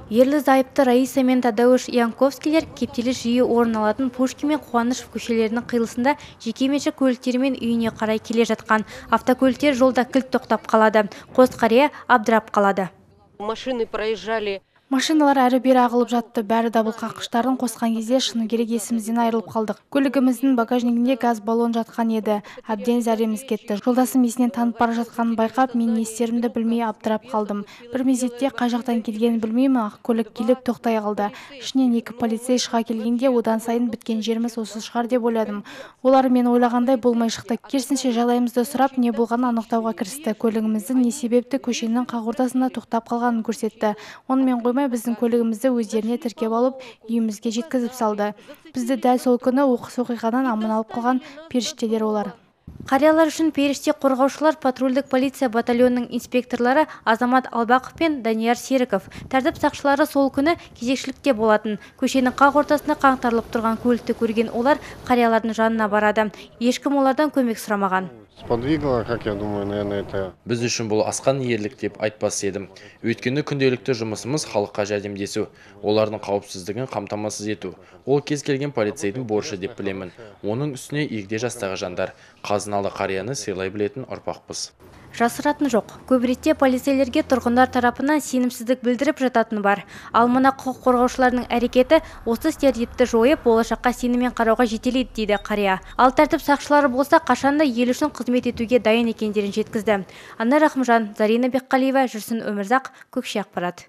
Ерлі зайыпты Раиса мен Тадеуш Янковскийлер кептеліс жиі орын алатын Пушкин мен Қуанышев көшелерінің қиылысында жекеменшік көліктерімен үйіне қарай келе жатқан. Автокөліктер жолда кілт тоқтап қалады. Қос қария абдырап қалады. Машины проезжали. Машиналар әрі-бері ағылып жатты. Бәрі дабыл қаққыштарын қосқан кезде шыны керек есімізден айырылып қалдық. Көлігіміздің багажнигінде газ баллон жатқан еді. Әбден зәреміз кетті. Жолдасым есінен танып бара жатқанын байқап, мен не істерімді білмей абдырап қалдым. Бір мезетте қай жақтан келгенін білмеймін, ақ көлік келіп тоқтай қалды. Ішінен екі полицей шыға келгенде, одан сайын біткен жеріміз осы шығар деп ойладым. Олар мен ойлағандай болмай шықты. Керісінше жағдайымызды сұрап, не болғанын анықтауға кірісті. Көлігіміздің не себепті көшенің қақ ортасында тоқтап қалғанын көрсетті. Онымен қоймай біздің көлігімізді өздеріне тіркеп алып, үйімізге жеткізіп салды. Бізді дәл сол күні оқыс оқиғадан аман алып қалған періштелер олар. Қариялар үшін періште қорғаушылар патрульдік полиция батальонының инспекторлары Азамат Албақов пен Данияр Серіков. Тәртіп сақшылары сол күні кезекшілікте болатын. Көшенің қақ ортасында қаңтарылып тұрған көлікті көрген олар қариялардың жанына барады. Ешкім олардан көмек сұрамаған. Сподвигло, как я думаю, наверное, это... Біз үшін бұл асқан ерлік деп айтпас едім. Өйткені күнделікті жұмысымыз халыққа жәрдемдесу, олардың қауіпсіздігін қамтамасыз ету. Ол кез келген полицейдің борышы деп білемін. Оның үстіне егде жастағы жандар, қазыналы қарияны сыйлай білетін ұрпақпыз. Жасыратын жоқ. Көп ретте полицейлерге тұрғындар тарапынан сенімсіздік білдіріп жататын бар. Ал мына құқық қорғаушылардың әрекеті осы стереотипті жойып, болашаққа сеніммен қарауға жетелейді дейді қария. Ал тәртіп сақшылары болса, қашанда ел үшін қызмет етуге дайын екендерін жеткізді. Анар Рахымжан, Зарина Бекқалиева, Жүрсін Өмірзақ, Көкше ақпарат.